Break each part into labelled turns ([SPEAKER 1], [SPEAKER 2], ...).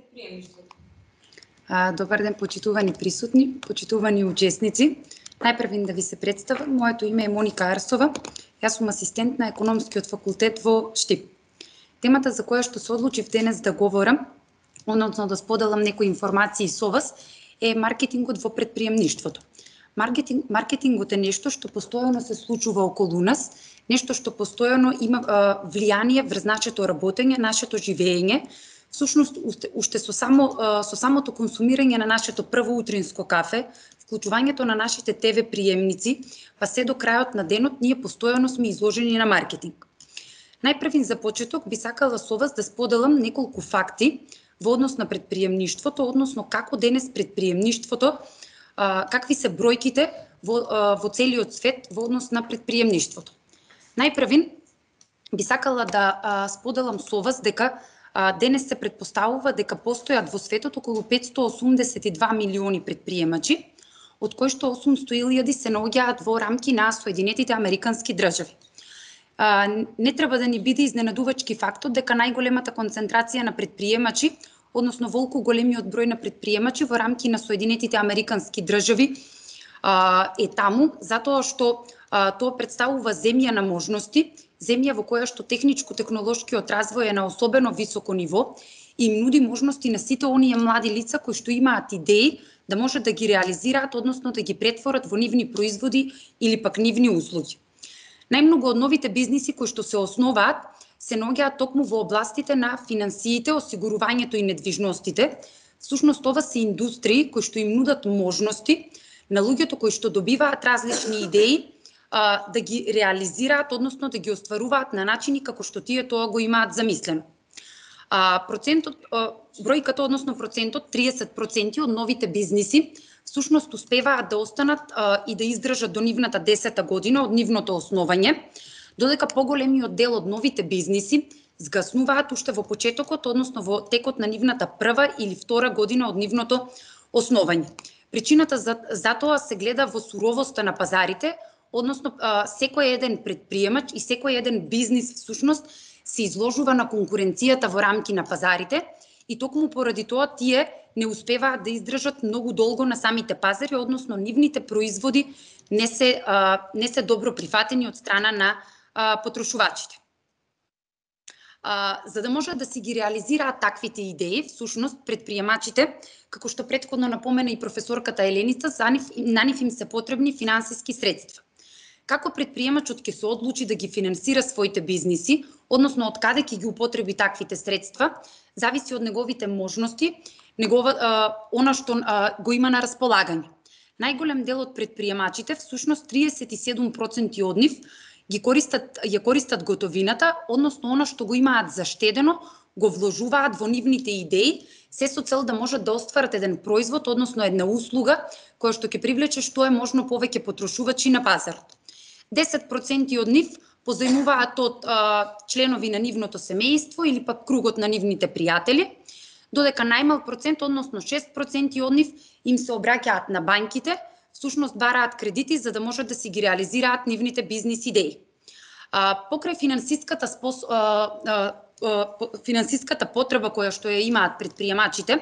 [SPEAKER 1] предприемништвото?
[SPEAKER 2] Добар ден, почитувани присутни, почитувани учесници. Најпрв да ви се представам, моето име е Моника Арсова. Јас сум асистент на Економскиот факултет во Штип. Темата за која што се одлучив денес да говорам, односно да споделам некои информации со вас, е маркетингот во предприемништвото. Маркетингот е нешто што постојано се случува околу нас, нешто што постојано има влијание врз нашето работење, нашето живење. Всушност, уште со самото консумирање на нашето прво утринско кафе, вклучувањето на нашите ТВ приемници, па се до крајот на денот, ние постојано сме изложени на маркетинг. Најпрв за почеток би сакала со вас да споделам неколку факти во однос на предприемништвото, односно како денес предприемништвото, какви се бројките во целиот свет во однос на предприемништвото. Најпрв би сакала да споделам со вас дека денес се претпоставува дека постојат во светот околу 582 милиони предприемачи, од кои што 800.000 се наоѓаат во рамки на Соединетите Американски држави. Не треба да ни биде изненадувачки фактот дека најголемата концентрација на предприемачи, односно волку големиот број на предприемачи во рамки на Соединетите Американски држави е таму, затоа што тоа представува земја на можности, земја во која што техничко-технолошкиот развој е на особено високо ниво и нуди можности на сите оние млади лица кои што имаат идеи да можат да ги реализираат, односно да ги претворат во нивни производи или пак нивни услуги. Најмногу од новите бизниси кои што се основаат се наоѓаат токму во областите на финансиите, осигурувањето и недвижностите. Всушност ова се индустрии кои што им нудат можности на луѓето кои што добиваат различни идеи да ги реализираат, односно да ги остваруваат на начини како што тие тоа го имаат замислено. Бројката, односно процентот, 30% од новите бизниси всушност успеваат да останат и да издржат до нивната 10-та година од нивното основање, додека поголемиот дел од новите бизниси згаснуваат уште во почетокот, односно во текот на нивната прва или втора година од нивното основање. Причината за тоа се гледа во суровоста на пазарите, односно секој еден предприемач и секој еден бизнис всушност се изложува на конкуренцијата во рамки на пазарите и токму поради тоа тие не успеваат да издржат многу долго на самите пазари, односно нивните производи не се добро прифатени од страна на потрошувачите. За да можат да си ги реализираат таквите идеи, всушност предприемачите, како што претходно напомена и професорката Еленица, на нив им се потребни финансиски средства. Како предприемачот ќе се одлучи да ги финансира своите бизниси, односно од каде ќе ги употреби таквите средства, зависи од неговите можности, она што го има на располагање. Најголем дел од предприемачите, всушност 37% од нив, ја користат готовината, односно она што го имаат заштедено, го вложуваат во нивните идеи, се со цел да можат да остварат еден производ, односно една услуга, која што ќе привлече што е можно повеќе потрошувачи на пазарот. 10% од нив позајмуваат од членови на нивното семејство или пак кругот на нивните пријатели, додека најмал процент, односно 6% од нив им се обраќаат на банките, всушност бараат кредити за да можат да си ги реализираат нивните бизнис идеи. Покрај финансиската потреба која што ја имаат предприемачите,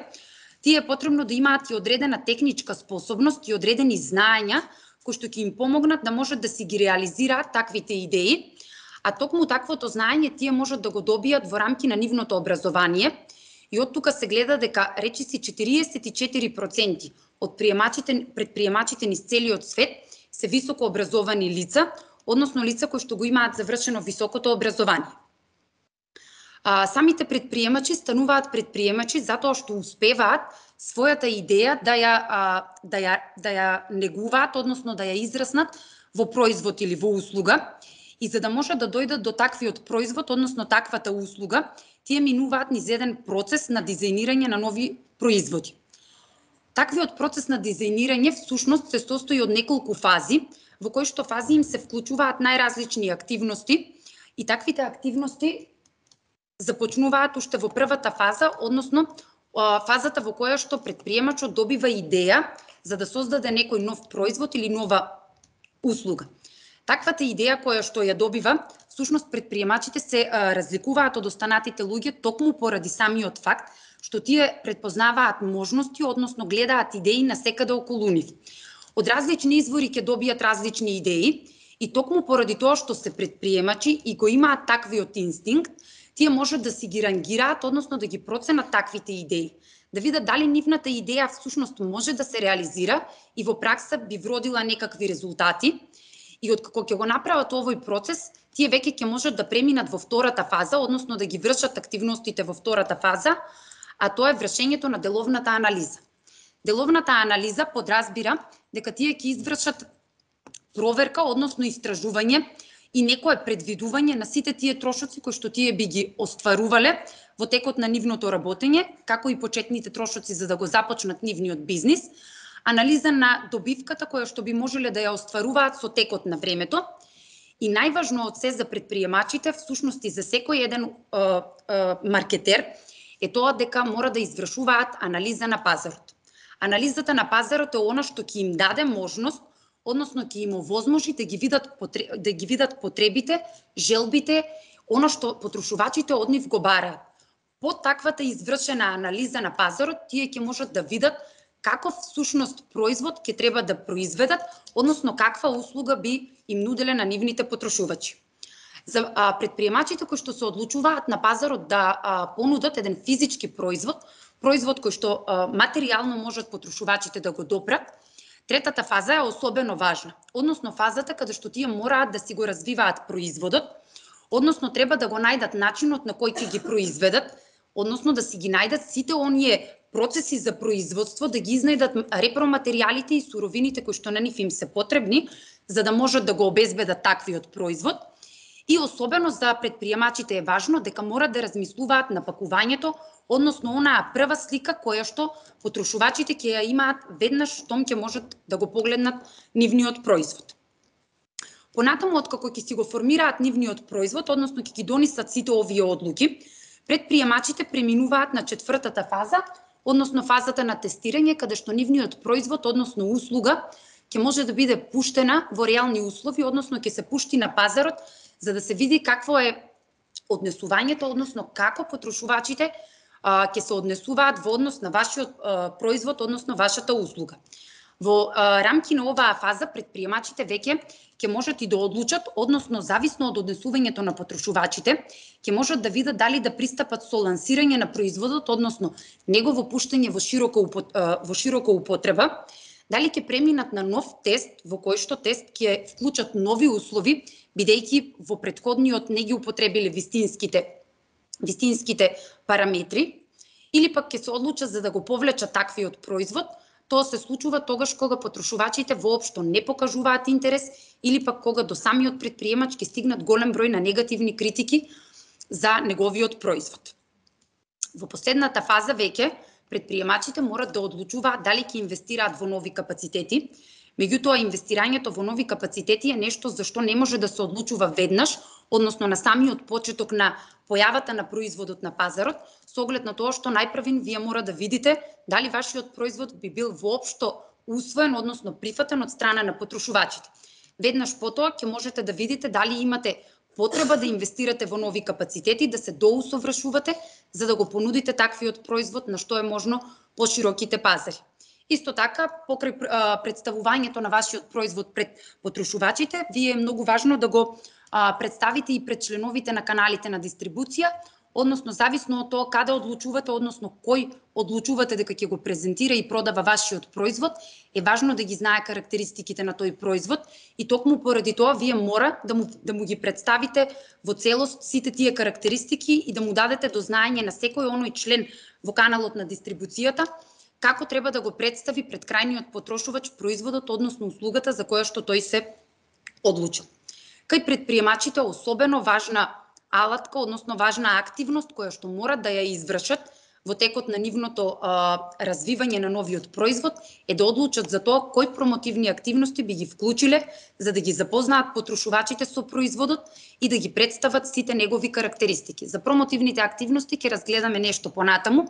[SPEAKER 2] тие е потребно да имаат и одредена техничка способност и одредени знаења кои што ќе им помогнат да можат да си ги реализираат таквите идеи, а токму таквото знаење тие можат да го добијат во рамки на нивното образование и од тука се гледа дека речиси 44% од предприемачите низ целиот свет се високо образовани лица, односно лица кои што го имаат завршено високото образование. Самите предприемачи стануваат предприемачи затоа што успеваат својата идеја да ја негуваат, односно да ја израснат во производ или во услуга, и за да може да дојдат до таквиот производ, односно таквата услуга, тие минуваат низ еден процес на дизајнирање на нови производи. Таквиот процес на дизајнирање всушност се состои од неколку фази, во кои што фази им се вклучуваат најразлични активности и таквите активности започнуваат уште во првата фаза, односно фазата во која што предприемачот добива идеја за да создаде некој нов производ или нова услуга. Таквата идеја која што ја добива, всушност предприемачите се разликуваат од останатите луѓе токму поради самиот факт што тие предпознаваат можности, односно гледаат идеи насекаде околу нив. Од различни извори ќе добијат различни идеи и токму поради тоа што се предприемачи и го имаат таквиот инстинкт, тие можат да си ги рангираат, односно да ги проценат таквите идеи, да видат дали нивната идеја всушност може да се реализира и во пракса би вродила некакви резултати. И откако ќе го направат овој процес, тие веќе ќе можат да преминат во втората фаза, односно да ги вршат активностите во втората фаза, а тоа е вршењето на деловната анализа. Деловната анализа подразбира дека тие ќе извршат проверка, односно истражување и некое предвидување на сите тие трошоци кои што тие би ги остварувале во текот на нивното работење, како и почетните трошоци за да го започнат нивниот бизнис, анализа на добивката која што би можеле да ја остваруваат со текот на времето и најважно од се за предприемачите, всушност и за секој еден маркетер, е тоа дека мора да извршуваат анализа на пазарот. Анализата на пазарот е она што ќе им даде можност, односно ќе им овозможи да ги видат потребите, желбите, она што потрошувачите од нив го бараат. По таквата извршена анализа на пазарот, тие ќе можат да видат каков всушност производ ќе треба да произведат, односно каква услуга би им нуделе на нивните потрошувачи. За предприемачите кои што се одлучуваат на пазарот да понудат еден физички производ кој што материјално можат потрошувачите да го допрат, третата фаза е особено важна, односно фазата каде што тие мораат да си го развиваат производот, односно треба да го најдат начинот на кој ќе ги произведат, односно да си ги најдат сите оние процеси за производство, да ги изнајдат репроматеријалите и суровините кои што на нив им се потребни, за да можат да го обезбедат таквиот производ. И особено за предприемачите е важно дека морат да размислуваат на пакувањето, односно онаа прва слика која што потрошувачите ќе ја имаат веднаш штом ќе можат да го погледнат нивниот производ. Понатаму, откако ќе си го формираат нивниот производ, односно ќе ги донесат сите овие одлуки, предприемачите преминуваат на четвртата фаза, односно фазата на тестирање, каде што нивниот производ, односно услуга, ќе може да биде пуштена во реални услови, односно ќе се пушти на пазарот, за да се види какво е однесувањето, односно како потрошувачите ќе се однесуваат во однос на вашиот производ, односно вашата услуга. Во рамки на оваа фаза предприемачите веќе ќе можат и да одлучат, односно зависно од однесувањето на потрошувачите, ќе можат да видат дали да пристапат со лансирање на производот, односно негово пуштање во широка употреба, дали ќе преминат на нов тест во кој што тест ќе вклучат нови услови, бидејќи во претходниот не ги употребиле вистинските параметри, или пак ќе се одлучат за да го повлечат таквиот производ. Тоа се случува тогаш кога потрошувачите воопшто не покажуваат интерес или пак кога до самиот предприемач ќе стигнат голем број на негативни критики за неговиот производ. Во последната фаза веќе предприемачите морат да одлучуваат дали ќе инвестираат во нови капацитети. Меѓутоа, инвестирањето во нови капацитети е нешто за што не може да се одлучува веднаш, односно на самиот почеток на појавата на производот на пазарот, со оглед на тоа што најпрвин вие мора да видите дали вашиот производ би бил воопшто усвоен, односно прифатен од страна на потрошувачите. Веднаш потоа ќе можете да видите дали имате потреба да инвестирате во нови капацитети, да се доусовршувате, за да го понудите таквиот производ на што е можно пошироките пазари. Исто така, покрај представувањето на вашиот производ пред потрошувачите, вие е многу важно да го представите и пред членовите на каналите на дистрибуција, односно зависно од тоа каде одлучувате, односно кој одлучувате дека ќе го презентира и продава вашиот производ, е важно да ги знае карактеристиките на тој производ и токму поради тоа вие мора да му ги представите во целост сите тие карактеристики и да му дадете до знаење на секој оној член во каналот на дистрибуцијата како треба да го представи пред крајниот потрошувач производот, односно услугата за која што тој се одлучил. Кај предприемачите особено важна алатка, односно важна активност која што морат да ја извршат во текот на нивното развивање на новиот производ е да одлучат за тоа кои промотивни активности би ги вклучиле за да ги запознаат потрошувачите со производот и да ги представат сите негови карактеристики. За промотивните активности ќе разгледаме нешто понатаму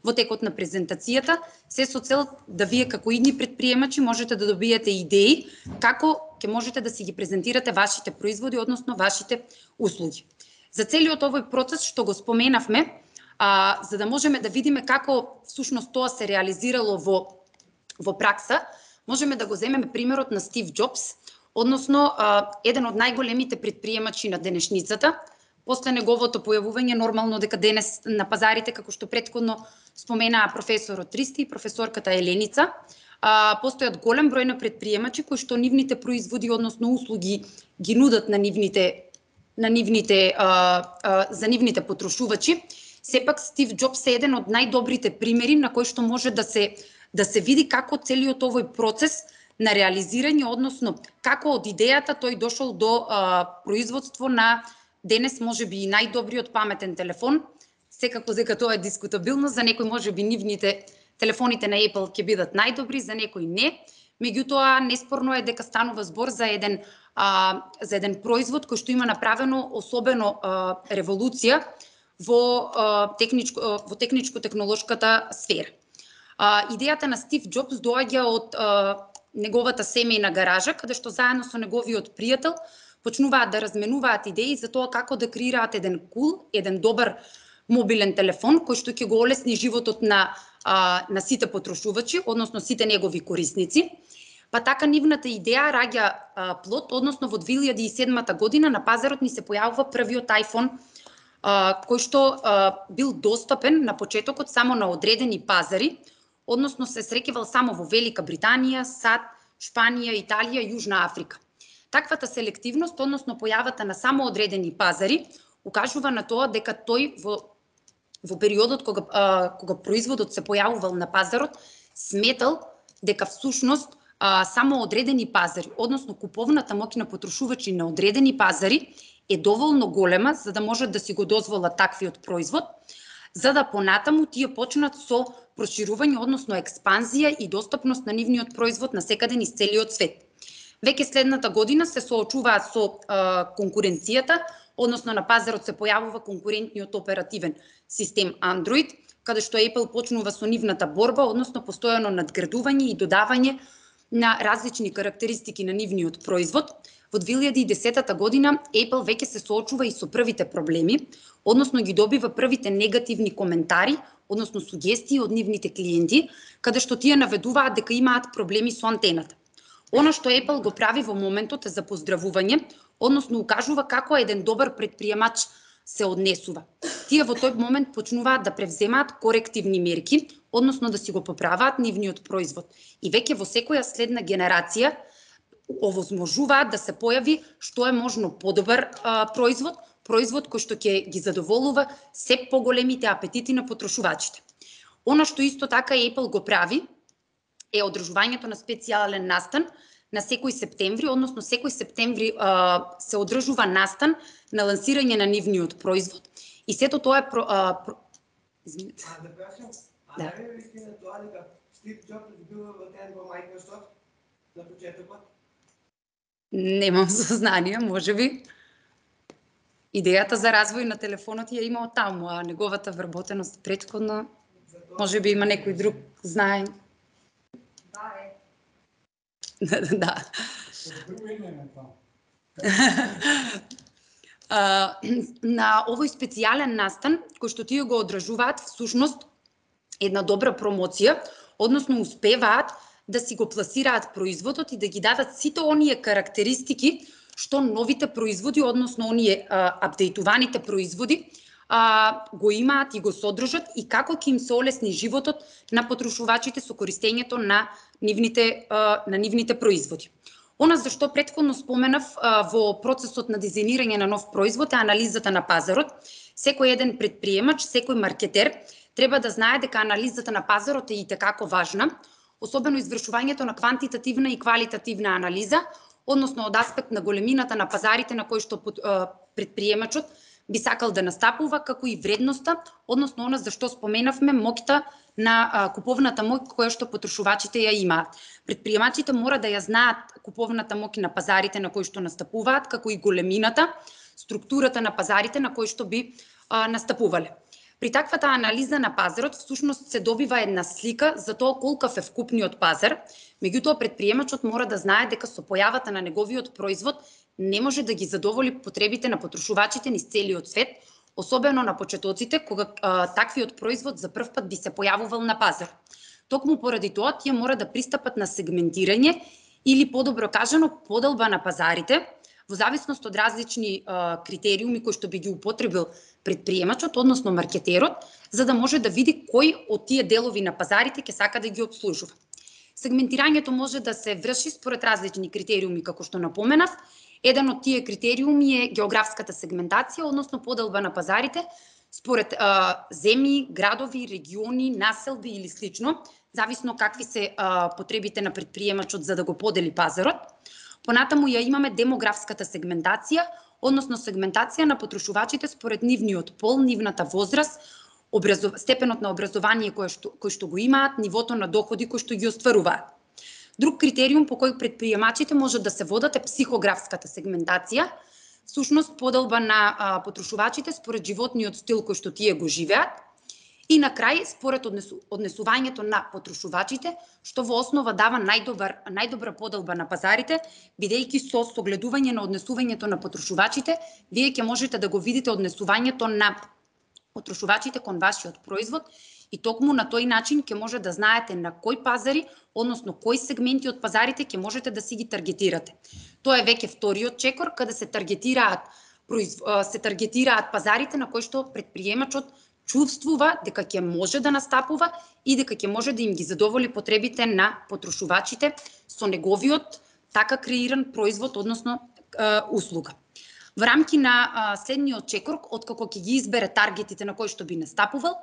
[SPEAKER 2] во текот на презентацијата, се со цел да вие како идни предприемачи можете да добиете идеи како ќе можете да си ги презентирате вашите производи, односно вашите услуги. За целиот овој процес што го споменавме, за да можеме да видиме како всушност тоа се реализирало во пракса, можеме да го земеме примерот на Стив Џобс, односно еден од најголемите претприемачи на денешницата. После неговото појавување, нормално дека денес на пазарите, како што претходно споменаа професорот Ристи и професорката Еленица, постојат голем број на претприемачи кои што нивните производи, односно услуги, ги нудат за нивните потрошувачи. Сепак Стив Џобс е еден од најдобрите примери на кој што може да се види како целиот овој процес на реализирање, односно како од идејата тој дошол до производство на денес можеби и најдобриот паметен телефон. Секако дека тоа е дискутабилно, за некој можеби телефоните на Apple ќе бидат најдобри, за некој не. Меѓутоа неспорно е дека станува збор за еден производ кој што има направено особено револуција во техничко-технолошката сфера. Идејата на Стив Џобс доаѓа од неговата семејна гаража, каде што заедно со неговиот пријател почнуваат да разменуваат идеи за тоа како да креираат еден добар мобилен телефон кој што ќе го олесни животот на сите потрошувачи, односно сите негови корисници. Па така нивната идеја раѓа плод, односно во 2007 година на пазарот ни се појавува првиот iPhone кој што бил достапен на почетокот само на одредени пазари, односно се среќавал само во Велика Британија, САД, Шпанија, Италија и Јужна Африка. Таквата селективност, односно појавата на само одредени пазари, укажува на тоа дека тој во периодот кога производот се појавувал на пазарот, сметал дека всушност само одредени пазари, односно куповната моќ на потрошувачи на одредени пазари е доволно голема за да можат да си го дозволат таквиот производ, за да понатаму тие почнат со проширување, односно експанзија и достапност на нивниот производ на секаде низ целиот свет. Веќе следната година се соочуваат со конкуренцијата, односно на пазарот се појавува конкурентниот оперативен систем Android, каде што Apple почнува со нивната борба, односно постојано надградување и додавање на различни карактеристики на нивниот производ. Во 2010 година Apple веќе се соочува и со првите проблеми, односно ги добива првите негативни коментари, односно сугестии од нивните клиенти, каде што тие наведуваат дека имаат проблеми со антената. Она што Apple го прави во моментот е за поздравување, односно укажува како еден добар претприемач се однесува. Тие во тој момент почнуваат да превземаат корективни мерки, односно да си го поправаат нивниот производ. И веќе во секоја следна генерација овозможуваат да се појави што е можно подобар производ кој што ќе ги задоволува се поголемите апетити на потрошувачите. Она што исто така Apple го прави е одржувањето на специјален настан на секој септември, односно секој септември се одржува настан на лансирање на нивниот производ и сето тоа е извинете.
[SPEAKER 1] Да прашам, не е вистина тоа дека Стив Џобс бил вратен во Microsoft на почетокот?
[SPEAKER 2] Немам сознание, можеби. Идејата за развој на телефонот ја има од таму, а неговата вработеност претходно, можеби има некој друг знае. Да. На овој специјален настан, кој што тие го одржуваат, всушност една добра промоција, односно успеваат да си го пласираат производот и да ги дадат сите оние карактеристики што новите производи, односно оние апдейтуваните производи, го имаат и го содржат и како ќе им се олесни животот на потрошувачите со користењето на нивните производи. Она за што претходно споменав во процесот на дизајнирање на нов производ е анализата на пазарот. Секој еден претприемач, секој маркетер треба да знае дека анализата на пазарот е итекако важна, особено извршувањето на квантитативна и квалитативна анализа, односно од аспект на големината на пазарите на кои што претприемачот би сакал да настапува, како и вредноста, односно она за што споменавме моќта на куповната моќ која што потрошувачите ја имаат. Претприемачите мора да ја знаат куповната моќ на пазарите на кои што настапуваат, како и големината, структурата на пазарите на кои што би настапувале. При таквата анализа на пазарот всушност се добива една слика за тоа колкав е вкупниот пазар, меѓутоа предприемачот мора да знае дека со појавата на неговиот производ не може да ги задоволи потребите на потрошувачите низ целиот свет, особено на почетоците кога таквиот производ за прв пат би се појавувал на пазар. Токму поради тоа тие мора да пристапат на сегментирање или подобро кажано поделба на пазарите во зависност од различни критериуми кои што би ги употребил предприемачот, односно маркетерот, за да може да види кој од тие делови на пазарите ќе сака да ги обслужува. Сегментирањето може да се врши според различни критериуми, како што напоменав. Еден од тие критериуми е географската сегментација, односно поделба на пазарите според земји, градови, региони, населби или слично, зависно какви се потребите на предприемачот за да го подели пазарот. Понатаму ја имаме демографската сегментација, односно сегментација на потрошувачите според нивниот пол, нивната возраст, степенот на образование кој што го имаат, нивото на доходи кои што ги остваруваат. Друг критериум по кој предприемачите можат да се водат е психографската сегментација, всушност поделба на потрошувачите според животниот стил кој што тие го живеат. И на крај, според однесувањето на потрошувачите, што во основа дава најдобра поделба на пазарите, бидејќи со согледување на однесувањето на потрошувачите, вие ќе можете да го видите однесувањето на потрошувачите кон вашиот производ и токму на тој начин ќе може да знаете на кои пазари, односно кои сегменти од пазарите ќе можете да си ги таргетирате. Тоа е веќе вториот чекор, каде се таргетираат пазарите на кои што предприемачот чувствува дека ќе може да настапува и дека ќе може да им ги задоволи потребите на потрошувачите со неговиот така креиран производ, односно услуга. Во рамки на следниот чекор, откако ќе ги избере таргетите на кои што би настапувал,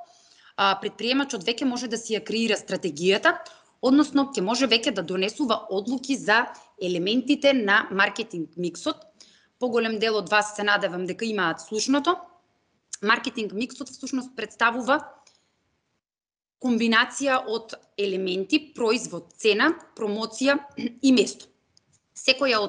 [SPEAKER 2] предприемачот веќе може да си ја креира стратегијата, односно ќе може веќе да донесува одлуки за елементите на маркетинг миксот. Поголем дел од вас се надевам дека имаат слушното. Маркетинг миксот всушност представува комбинација од елементи, производ, цена, промоција и место. Секоја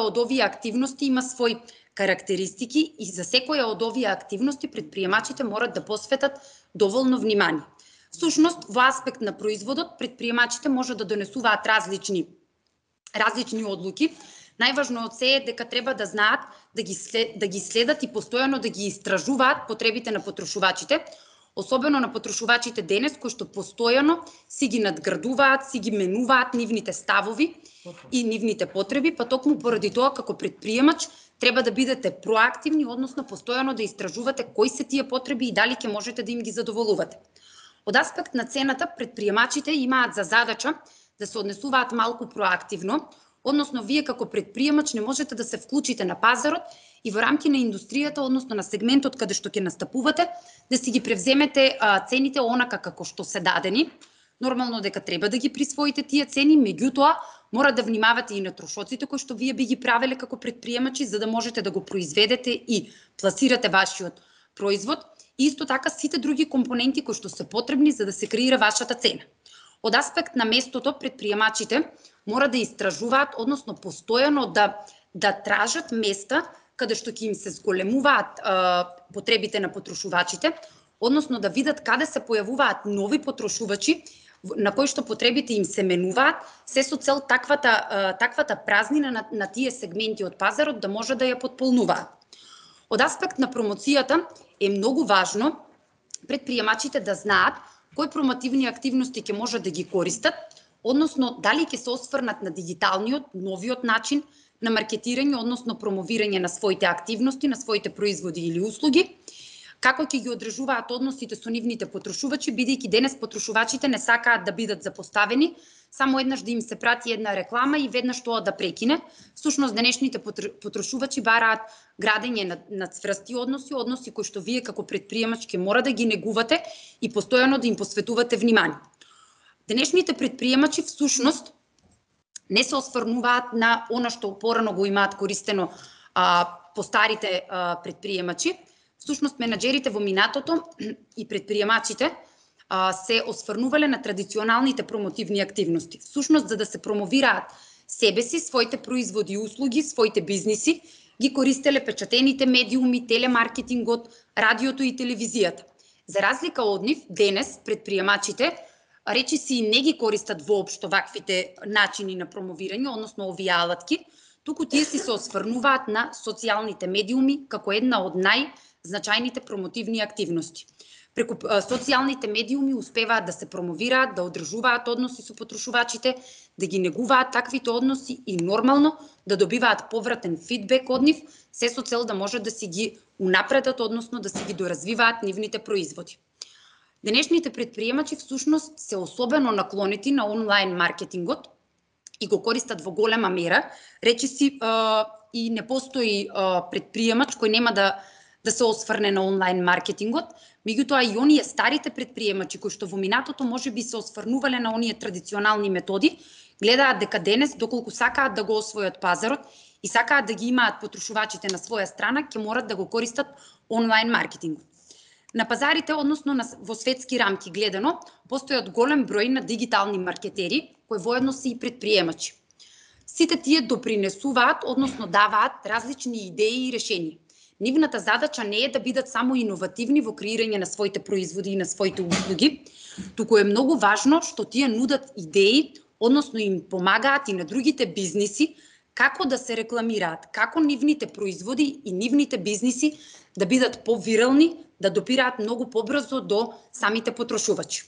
[SPEAKER 2] од овие активности има свои карактеристики и за секоја од овие активности предприемачите морат да посветат доволно внимание. Всушност, во аспект на производот, предприемачите може да донесуваат различни одлуки. Најважно од се е дека треба да знаат да ги следат и постојано да ги истражуваат потребите на потрошувачите, особено на потрошувачите денес кои што постојано си ги надградуваат, си ги менуваат нивните ставови и нивните потреби, па токму поради тоа како предприемач треба да бидете проактивни, односно постојано да истражувате кои се тие потреби и дали ќе можете да им ги задоволувате. Од аспект на цената, предприемачите имаат за задача да се однесуваат малку проактивно, односно вие како предприемач не можете да се вклучите на пазарот и во рамки на индустријата, односно на сегментот каде што ќе настапувате, да си ги превземете цените онака како што се дадени. Нормално дека треба да ги присвоите тие цени, меѓутоа мора да внимавате и на трошоците кои што вие би ги правеле како предприемачи за да можете да го произведете и пласирате вашиот производ. И исто така сите други компоненти кои што се потребни за да се креира вашата цена. Од аспект на местото, предприемачите мора да истражуваат, односно постојано да тражат места каде што ќе им се зголемуваат потребите на потрошувачите, односно да видат каде се појавуваат нови потрошувачи на кои што потребите им се менуваат, се со цел таквата празнина на тие сегменти од пазарот да може да ја потполнуваат. Од аспект на промоцијата е многу важно предприемачите да знаат кои промотивни активности ќе може да ги користат, односно дали ќе се осврнат на дигиталниот, новиот начин на маркетирање, односно промовирање на своите активности, на своите производи или услуги, како ќе ги одржуваат односите со нивните потрошувачи, бидејќи денес потрошувачите не сакаат да бидат запоставени, само еднаш да им се прати една реклама и веднаш тоа да прекине. Всушност, денешните потрошувачи бараат градење на цврсти односи кои што вие како предприемач ќе мора да ги негувате и постојано да им посветувате внимание. Денешните предприемачи всушност не се осврнуваат на она што порано го имаат користено по старите предприемачи. Всушност, менаџерите во минатото и предприемачите се осврнувале на традиционалните промотивни активности. Всушност, за да се промовираат себе си, своите производи и услуги, своите бизниси, ги користеле печатените медиуми, телемаркетингот, радиото и телевизијата. За разлика од нив, денес предприемачите речиси не ги користат воопшто ваквите начини на промовирање, односно овие алатки, туку тие се осврнуваат на социјалните медиуми како една од најзначајните промотивни активности. Преку социјалните медиуми успеваат да се промовираат, да одржуваат односи со потрошувачите, да ги негуваат таквите односи и нормално да добиваат повратен фидбек од нив, се со цел да можат да си ги унапредат, односно да си ги доразвиваат нивните производи. Денешните предприемачи всушност се особено наклонети на онлайн маркетингот и го користат во голема мера. Речиси и не постои предприемач кој нема да се осврне на онлайн маркетингот, меѓутоа и оние старите предприемачи кои што во минатото можеби се осврнувале на оние традиционални методи, гледаат дека денес доколку сакаат да го освојат пазарот и сакаат да ги имаат потрошувачите на своја страна, ќе морат да го користат онлайн маркетингот. На пазарите, односно во светски рамки гледано, постојат голем број на дигитални маркетери, кои воедно се и предприемачи. Сите тие допринесуваат, односно даваат различни идеи и решенија. Нивната задача не е да бидат само иновативни во креирање на своите производи и на своите услуги, туку е многу важно што тие нудат идеи, односно им помагаат и на другите бизниси како да се рекламираат, како нивните производи и нивните бизниси да бидат повирални, да допираат многу побрзо до самите потрошувачи.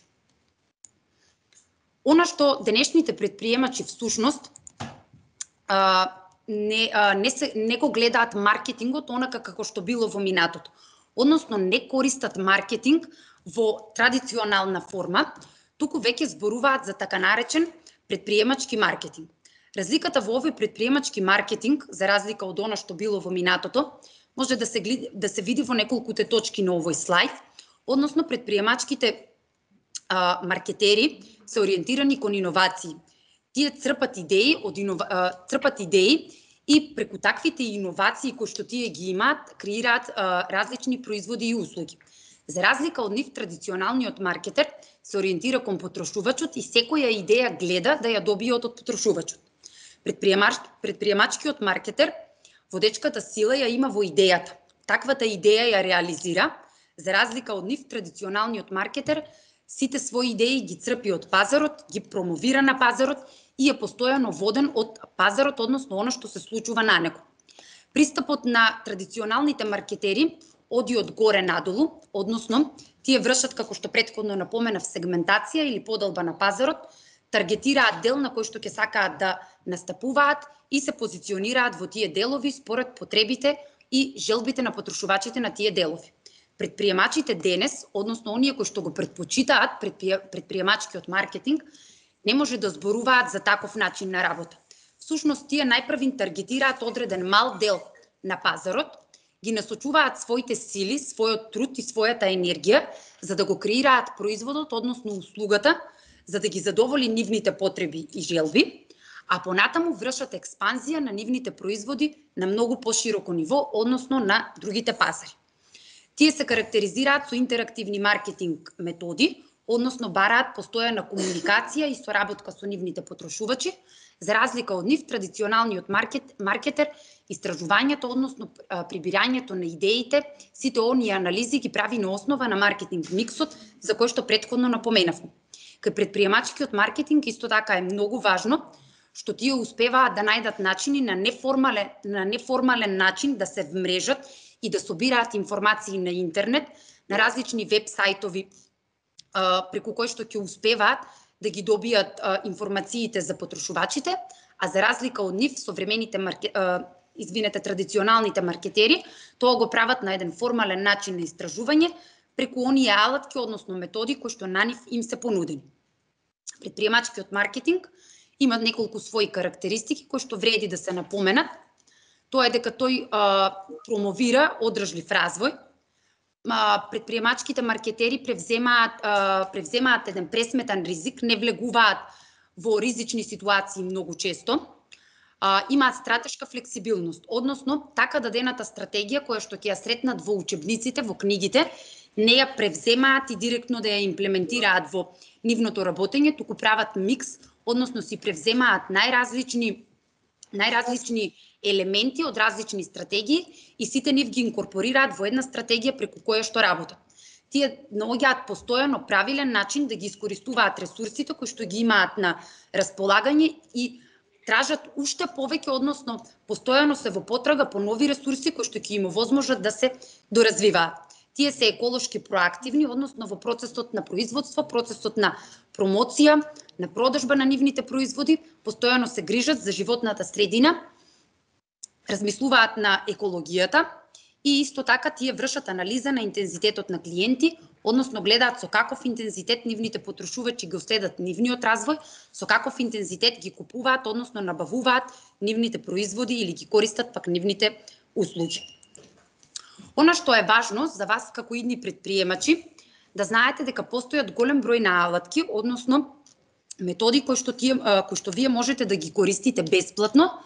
[SPEAKER 2] Она што денешните предприемачи всушност не го гледаат маркетингот онака како што било во минатото. Односно не користат маркетинг во традиционална форма, туку веќе зборуваат за така наречен предприемачки маркетинг. Разликата во овој предприемачки маркетинг, за разлика од она што било во минатото, може да се види во неколкуте точки на овој слайд, односно предприемачките маркетери се ориентирани кон иновации. Тие црпат идеи и преку таквите иновации кои што тие ги имаат, креираат различни производи и услуги. За разлика од нив, традиционалниот маркетер се ориентира кон потрошувачот и секоја идеја гледа да ја добие од потрошувачот. Предприемачкиот маркетер водечката сила ја има во идејата. Таквата идеја ја реализира, за разлика од нив, традиционалниот маркетер сите своји идеи ги црпи од пазарот, ги промовира на пазарот и е постојано воден од пазарот, односно оно што се случува на него. Пристапот на традиционалните маркетери оди од горе надолу, односно тие вршат, како што претходно напоменав, сегментација или подолба на пазарот, таргетираат дел на кој што ќе сакаат да настапуваат и се позиционираат во тие делови според потребите и желбите на потрошувачите на тие делови. Предприемачите денес, односно оние кои што го претпочитаат предприемачкиот маркетинг, не може да зборуваат за таков начин на работа. Всушност, тие најпрвин таргетираат одреден мал дел на пазарот, ги насочуваат своите сили, својот труд и својата енергија за да го креираат производот, односно услугата, за да ги задоволи нивните потреби и желби, а понатаму вршат експанзија на нивните производи на многу пошироко ниво, односно на другите пазари. Тие се карактеризираат со интерактивни маркетинг методи, односно бараат постојана комуникација и соработка со нивните потрошувачи. За разлика од нив, традиционалниот маркетер, истражувањето, односно прибирањето на идеите, сите оние анализи ги прави на основа на маркетинг миксот, за кој што претходно напоменавме. Кај предприемачкиот маркетинг исто така е многу важно што тие успеваат да најдат начини на неформален начин да се вмрежат и да собираат информации на интернет, на различни веб сајтови, преку кои што ќе успеваат да ги добијат информациите за потрошувачите, а за разлика од нив, современите традиционалните маркетери, тоа го прават на еден формален начин на истражување преку оние алатки, односно методи кои што на нив им се понудени. Предприемачкиот маркетинг има неколку своји карактеристики кои што вреди да се напоменат. Тоа е дека тој промовира одржлив развој. Предприемачките маркетери превземаат еден пресметан ризик, не влегуваат во ризични ситуации многу често, имаат стратешка флексибилност, односно така дадената стратегија која што ќе ја сретнат во учебниците, во книгите, не ја превземаат и директно да ја имплементираат во нивното работење, туку прават микс, односно си превземаат најразлични елементи од различни стратегии и сите нив ги инкорпорираат во една стратегија преку која што работат. Тие наоѓаат постојано правилен начин да ги искористуваат ресурсите кои што ги имаат на располагање и тражат уште повеќе, односно постојано се во потрага по нови ресурси кои што ќе им овозможат да се доразвиваат. Тие се еколошки проактивни, односно во процесот на производство, процесот на промоција, на продажба на нивните производи, постојано се грижат за животната средина, размислуваат на екологијата и исто така тие вршат анализа на интензитетот на клиенти, односно гледаат со каков интензитет нивните потрошувачи го следат нивниот развој, со каков интензитет ги купуваат, односно набавуваат нивните производи или ги користат пак нивните услуги. Она што е важно за вас како идни предприемачи, да знаете дека постојат голем број на алатки, односно методи кои што вие можете да ги користите бесплатно,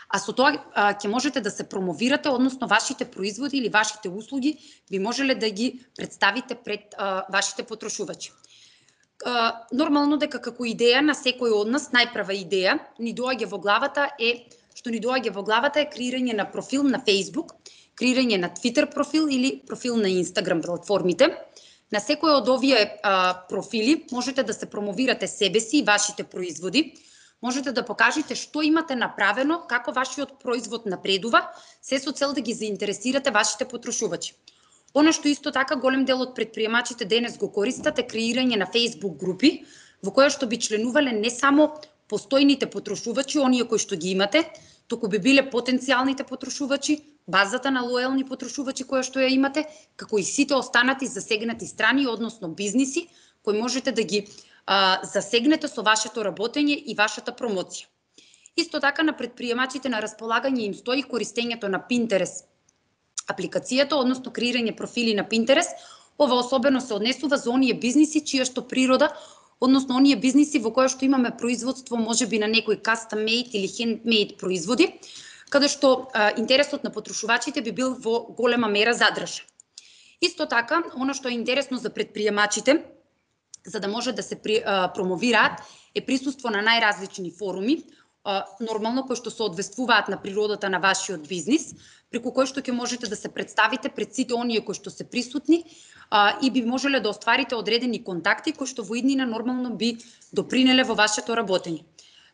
[SPEAKER 2] а со тоа ќе можете да се промовирате, односно вашите производи или вашите услуги би можеле да ги представите пред вашите потрошувачи. Нормално дека како идеја на секој од нас, најпрва идеја ни доаѓа во главата е креирање на профил на Facebook, креирање на Twitter профил или профил на Instagram платформите. На секој од овие профили можете да се промовирате себе си и вашите производи, можете да покажете што имате направено, како вашиот производ напредува, се со цел да ги заинтересирате вашите потрошувачи. Она што исто така голем дел од предприемачите денес го користат е креирање на Facebook групи, во која што би членувале не само постојните потрошувачи, оние кои што ги имате, туку би биле потенцијалните потрошувачи, базата на лојални потрошувачи која што ја имате, како и сите останати засегнати страни, односно бизниси, кои можете да ги засегнете со вашето работење и вашата промоција. Исто така на предприемачите на располагање им стои користењето на Pinterest апликацијата, односно креирање профили на Pinterest. Ова особено се однесува за оние бизниси чија што природа, односно оние бизниси во која што имаме производство можеби на некои custom made или handmade производи, каде што интересот на потрошувачите би бил во голема мера задржан. Исто така, она што е интересно за предприемачите, за да може да се промовираат, е присуство на најразлични форуми, нормално кои што се одвествуваат на природата на вашиот бизнис, преку кои што ќе можете да се представите пред сите оние кои што се присутни и би можеле да остварите одредени контакти кои што во иднина нормално би допринеле во вашето работење.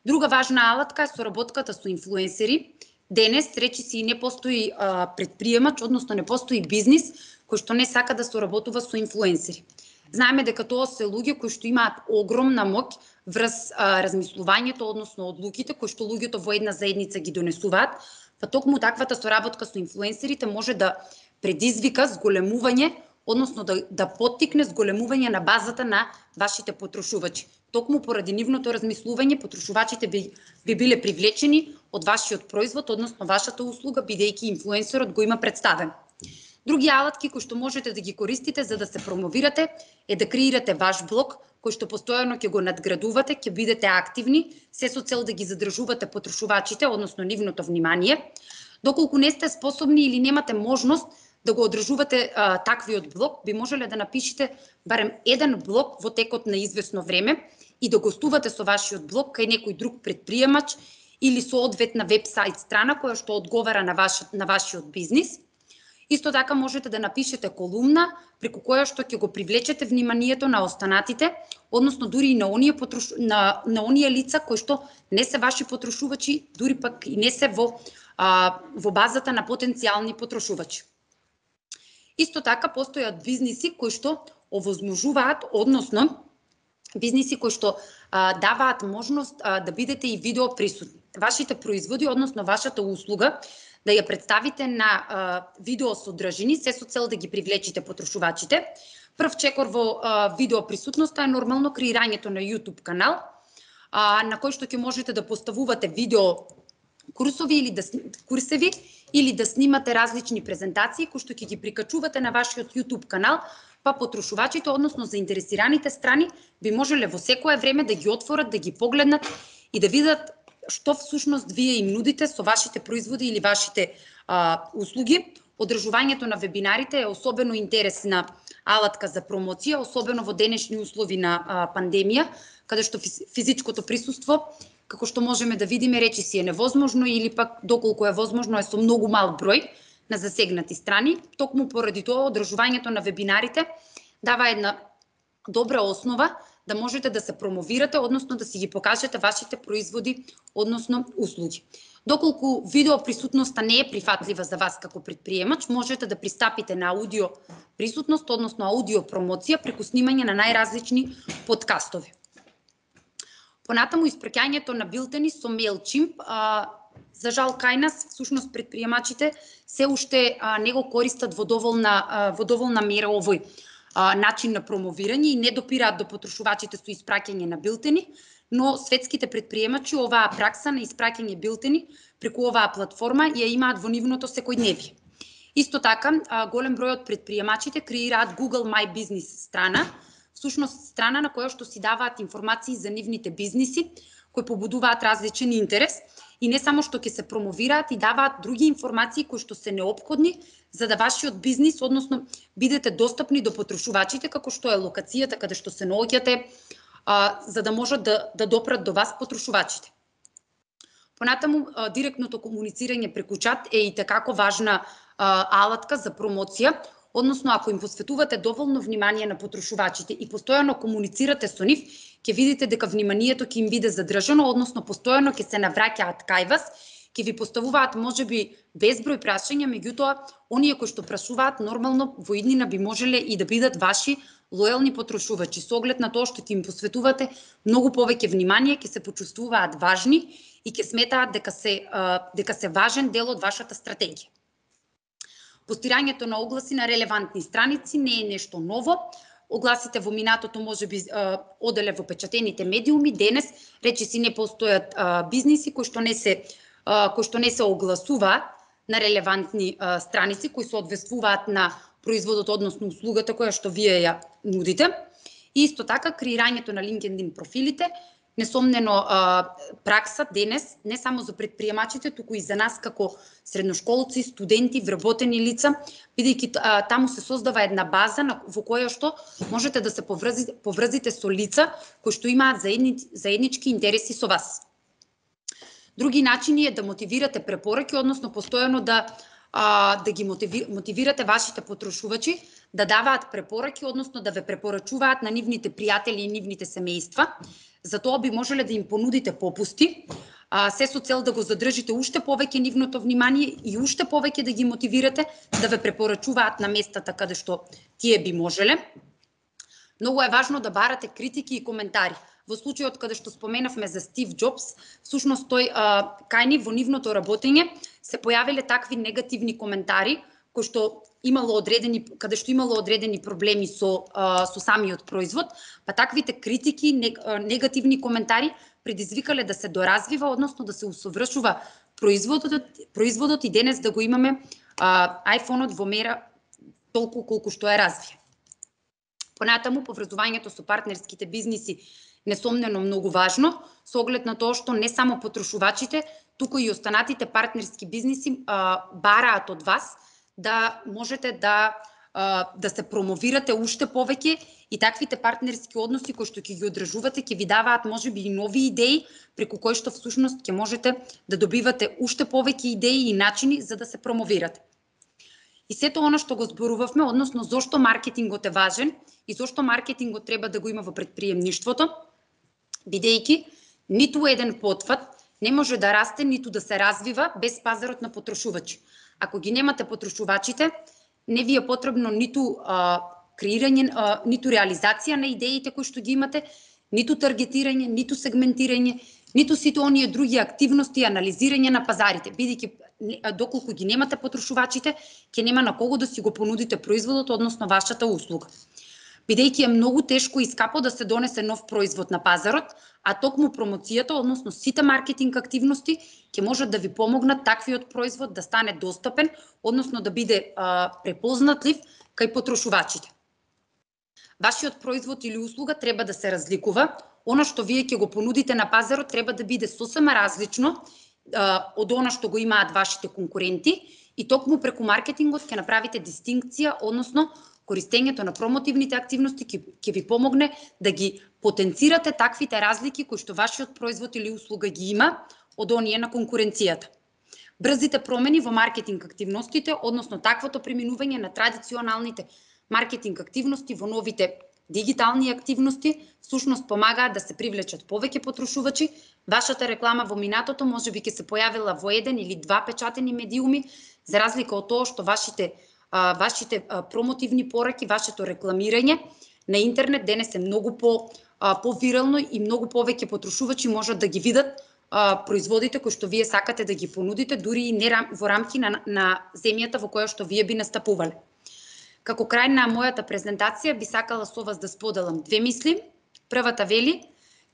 [SPEAKER 2] Друга важна алатка е соработката со инфлуенсери. Денес, речиси, и не постои предприемач, односно не постои бизнис кој што не сака да соработува со инфлуенсери. Знаеме дека тоа се луѓе кои што имаат огромна моќ врз размислувањето, односно одлуките кои што луѓето во една заедница ги донесуваат, па токму таквата соработка со инфлуенсерите може да предизвика зголемување, односно да поттикне зголемување на базата на вашите потрошувачи. Токму поради нивното размислување, потрошувачите би биле привлечени од вашиот производ, односно вашата услуга, бидејќи инфлуенсерот го има представен. Други алатки кои што можете да ги користите за да се промовирате е да креирате ваш блог, кој што постојано ќе го надградувате, ќе бидете активни, се со цел да ги задржувате потрошувачите, односно нивното внимание. Доколку не сте способни или немате можност да го одржувате таквиот блог, би можеле да напишете барем еден блог во текот на извесно време и да гостувате со вашиот блог кај некој друг предприемач или соодветна веб-сайт страна која што одговара на вашиот бизнис. Исто така можете да напишете колумна преку која што ќе го привлечете вниманието на останатите, односно дури и на оние лица кои што не се ваши потрошувачи, дури пак и не се во базата на потенцијални потрошувачи. Исто така постојат бизниси кои што овозможуваат, односно бизниси кои што даваат можност да бидете и видео присутни. Вашите производи, односно вашата услуга, да ја представите на видео содржини, се со цел да ги привлечите потрошувачите. Прв чекор во видео присутноста е нормално креирањето на YouTube канал, на кој што ќе можете да поставувате видео курсови или да снимате различни презентации кои што ќе ги прикачувате на вашиот YouTube канал, па потрошувачите, односно заинтересираните страни, би можеле во секое време да ги отворат, да ги погледнат и да видат што всушност вие им нудите со вашите производи или вашите услуги. Одржувањето на вебинарите е особено интересна алатка за промоција, особено во денешни услови на пандемија, каде што физичкото присуство како што можеме да видиме, речиси е невозможно или пак доколку е возможно е со многу мал број на засегнати страни. Токму поради тоа одржувањето на вебинарите дава една добра основа да можете да се промовирате, односно да си ги покажете вашите производи, односно услуги. Доколку видео присутноста не е прифатлива за вас како предприемач, можете да пристапите на аудио присутност, односно аудио промоција преку снимање на најразлични подкастови. Понатаму испраќањето на билтени со Mailchimp, за жал кај нас, всушност предприемачите се уште не го користат во доволна мера овој начин на промовирање и не допираат до потрошувачите со испраќање на билтени, но светските предприемачи оваа пракса на испраќање билтени преку оваа платформа ја имаат во нивното секојдневие. Исто така, голем број од предприемачите креираат Google My Business страна, всушност страна на која што си даваат информации за нивните бизниси, кои побудуваат различен интерес и не само што ќе се промовираат и даваат други информации кои што се неопходни за да вашиот бизнис, односно бидете достапни до потрошувачите, како што е локацијата каде што се наоѓате, за да можат да допрат до вас потрошувачите. Понатаму, директното комуницирање преку чат е и такако важна алатка за промоција, односно ако им посветувате доволно внимание на потрошувачите и постојано комуницирате со нив, ќе видите дека вниманието ќе им биде задржано, односно постојано ќе се навраќаат кај вас, ќе ви поставуваат можеби безброј прашања, меѓутоа оние кои што прашуваат нормално во иднина би можеле и да бидат ваши лојални потрошувачи. Со оглед на тоа што ќе им посветувате многу повеќе внимание, ќе се почувствуваат важни и ќе сметаат дека се важен дел од вашата стратегија. Постирањето на огласи на релевантни страници не е нешто ново. Огласите во минатото можеби оделе во печатените медиуми, денес речиси не постојат бизниси кои што не се огласуваат на релевантни страници, кои се одвествуваат на производот, односно услугата која што вие ја нудите. И исто така, креирањето на LinkedIn профилите, несомнено пракса денес, не само за предприемачите, туку и за нас како средношколци, студенти, вработени лица, бидејќи таму се создава една база во која што можете да се поврзите со лица кои што имаат заеднички интереси со вас. Други начини е да мотивирате препораки, односно постојано да ги мотивирате вашите потрошувачи да даваат препораки, односно да ве препорачуваат на нивните пријатели и нивните семејства. За тоа би можеле да им понудите попусти, се со цел да го задржите уште повеќе нивното внимание и уште повеќе да ги мотивирате да ве препорачуваат на местата каде што тие би можеле. Многу е важно да барате критики и коментари. Во случајот каде што споменавме за Стив Џобс, всушност тој кај ни во нивното работење се појавиле такви негативни коментари кои што каде што имало одредени проблеми со самиот производ, па таквите критики, негативни коментари предизвикале да се доразвива, односно да се усовршува производот и денес да го имаме iPhone-от во мера толку колку што е развие. Понатаму, поврзувањето со партнерските бизниси несомнено многу важно, со оглед на тоа што не само потрошувачите, туку и останатите партнерски бизниси бараат од вас да можете да се промовирате уште повеќе и таквите партнерски односи кои што ќе ги одржувате ќе ви даваат можеби и нови идеи преку кои што всушност ќе можете да добивате уште повеќе идеи и начини за да се промовирате. И сето она што го зборувавме, односно зошто маркетингот е важен и зошто маркетингот треба да го има во претприемништвото, бидејќи ниту еден потфат не може да расте, ниту да се развива без пазарот на потрошувачи. Ако ги немате потрошувачите, не ви е потребно ниту креирање, ниту реализација на идеите кои што ги имате, ниту таргетирање, ниту сегментирање, ниту сите оние други активности и анализирање на пазарите, бидејќи доколку ги немате потрошувачите, ќе нема на кого да си го понудите производот, односно вашата услуга. Бидејќи е многу тешко и скапо да се донесе нов производ на пазарот, а токму промоцијата, односно сите маркетинг активности, ќе можат да ви помогнат таквиот производ да стане достапен, односно да биде препознатлив кај потрошувачите. Вашиот производ или услуга треба да се разликува, она што вие ќе го понудите на пазарот треба да биде сосема различно од она што го имаат вашите конкуренти и токму преку маркетингот ќе направите дистинкција, односно користењето на промотивните активности ќе ви помогне да ги потенцирате таквите разлики кои што вашиот производ или услуга ги има од оние на конкуренцијата. Брзите промени во маркетинг активностите, односно таквото преминување на традиционалните маркетинг активности во новите дигитални активности, всушност помагаат да се привлечат повеќе потрошувачи. Вашата реклама во минатото можеби ќе се појавила во еден или два печатени медиуми, за разлика од тоа што вашите промотивни пораки, вашето рекламирање на интернет денес е многу повирално и многу повеќе потрошувачи можат да ги видат производите кои што вие сакате да ги понудите, дури и не во рамки на земјата во која што вие би настапувале. Како крај на мојата презентација би сакала со вас да споделам две мисли. Првата вели: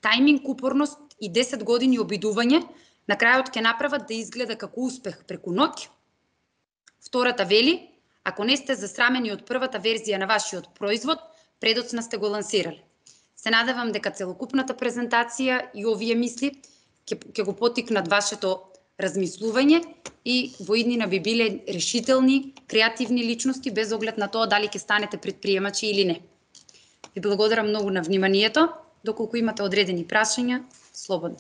[SPEAKER 2] тајминг, упорност и 10 години обидување на крајот ќе направат да изгледа како успех преку ноќ. Втората вели: ако не сте засрамени од првата верзија на вашиот производ, предоцна сте го лансирале. Се надевам дека целокупната презентација и овие мисли ќе го поттикнат вашето размислување и во иднина би биле решителни, креативни личности без оглед на тоа дали ќе станете предприемачи или не. Ви благодарам многу на вниманието. Доколку имате одредени прашања, слободно.